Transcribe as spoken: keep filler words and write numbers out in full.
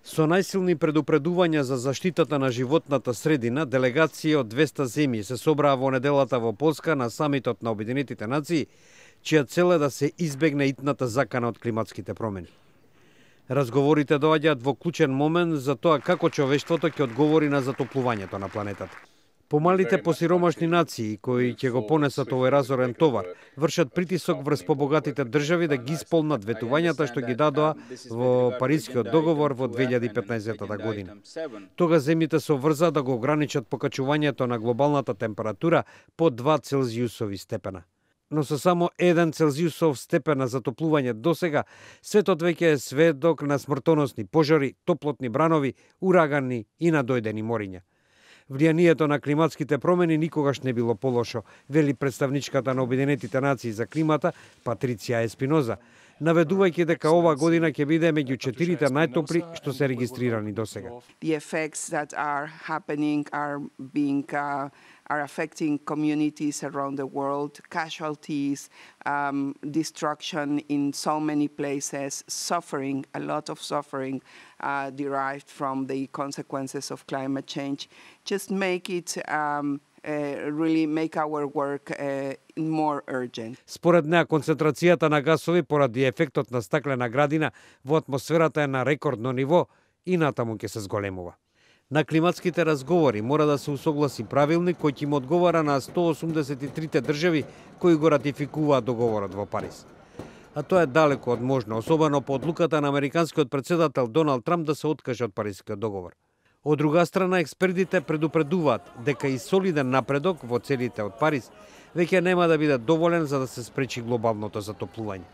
Со најсилни предупредувања за заштитата на животната средина, делегација од двесте земји се собраа во неделата во Полска на самитот на Обединетите нации, чија цел е да се избегне итната закана од климатските промени. Разговорите доаѓаат во клучен момент за тоа како човештвото ќе одговори на затоплувањето на планетата. Помалите посиромашни нации, кои ќе го понесат овој разорен товар, вршат притисок врз побогатите држави да ги исполнат ветувањата што ги дадоа во Парискиот договор во две илјади и петнаесетта година. Тога земјите се обврзаа да го ограничат покачувањето на глобалната температура по два целзиусови степена. Но со само еден целзиусов степен на затоплување досега, светот веќе е сведок на смртоносни пожари, топлотни бранови, урагани и надојдени мориња. Влијанието на климатските промени никогаш не било полошо, вели представничката на Обединетите нации за климата Патриција Еспиноза, наведувајќи дека ова година ќе биде меѓу четирите најтопли што се регистрирани досега. The effects that are happening are being uh, are affecting communities around the world, casualties, um, destruction in so many places, suffering, a lot of suffering uh, derived from the consequences of climate change. Just make it um, uh, really make our work uh, more urgent. Според неа, концентрацијата на гасови поради ефектот на стаклена градина во атмосферата е на рекордно ниво и натаму ќе се зголемува. На климатските разговори мора да се усогласи правилник кој ќе им одговара на сто осумдесет и трите држави кои го ратификуваат договорот во Париз. А тоа е далеко од можно, особено по одлуката на американскиот претседател Доналд Трамп да се откаже од Парискиот договор. Од друга страна, експертите предупредуваат дека и солиден напредок во целите од Париз веќе нема да биде доволен за да се спречи глобалното затоплување.